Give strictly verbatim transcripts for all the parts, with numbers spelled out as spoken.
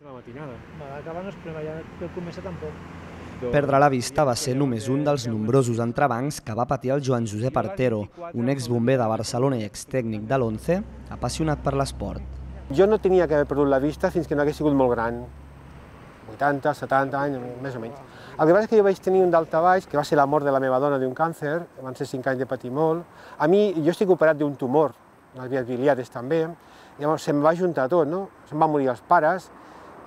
La matinada. Acabar no és problema, ja per començar tampoc. Perdre la vista va ser només un dels nombrosos entrebancs que va patir el Joan Josep Artero, un exbomber de Barcelona i extècnic de l'Once, apassionat per l'esport. Jo no tenia que haver perdut la vista fins que no hagués sigut molt gran, vuitanta, setanta anys, més o menys. El que passa és que jo vaig tenir un daltabaix, que va ser la mort de la meva dona d'un càncer, van ser cinc anys de patir molt. A mi, jo estic operat d'un tumor, les vies biliares també, llavors se'm va juntar tot, no? Se'm van morir els pares,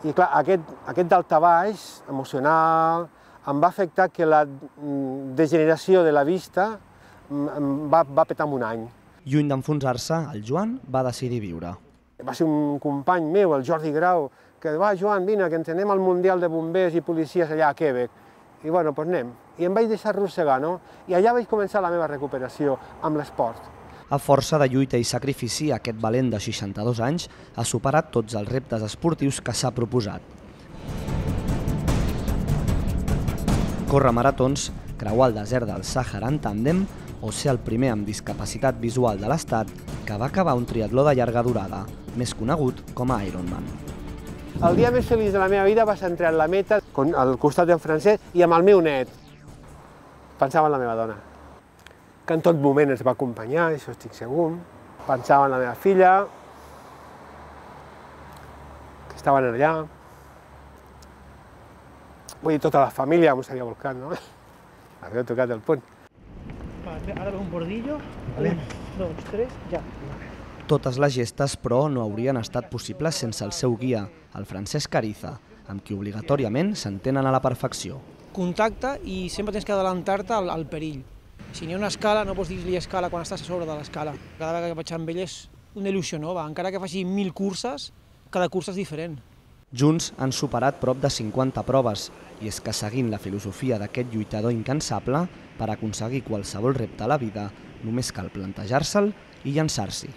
i clar, aquest, aquest daltabaix emocional em va afectar que la degeneració de la vista va, va petar en un any. Lluny d'enfonsar-se, el Joan va decidir viure. Va ser un company meu, el Jordi Grau, que va, Joan, vine, que ens anem al Mundial de Bombers i Policies allà a Quebec. I bueno, doncs anem. I em vaig deixar arrossegar, no? I allà vaig començar la meva recuperació amb l'esport. A força de lluita i sacrifici, aquest valent de seixanta-dos anys ha superat tots els reptes esportius que s'ha proposat. Córrer maratons, creuar el desert del Sàhara en tàndem o ser el primer amb discapacitat visual de l'Estat que va acabar un triatló de llarga durada, més conegut com a Ironman. El dia més feliç de la meva vida va ser entrar en la meta al costat d'en Francesc i amb el meu net. Pensava en la meva dona, que en tot moment ens va acompanyar, això estic segur. Pensava en la meva filla, que estaven allà. Vull dir, tota la família m'ho s'havia volcat, no? Havia tocat el punt. Ara ve un bordillo, un, dos, tres, ja. Totes les gestes, però, no haurien estat possibles sense el seu guia, el Francesc Ariza, amb qui obligatòriament s'entenen a la perfecció. Contacte i sempre tens que adelantar-te al, al perill. Si n'hi ha una escala, no pots dir-li escala quan estàs a sobre de l'escala. Cada vegada que vaig amb ell és una il·lusió nova. Encara que faci mil curses, cada cursa és diferent. Junts han superat prop de cinquanta proves, i és que seguint la filosofia d'aquest lluitador incansable, per aconseguir qualsevol repte a la vida, només cal plantejar-se'l i llançar-s'hi.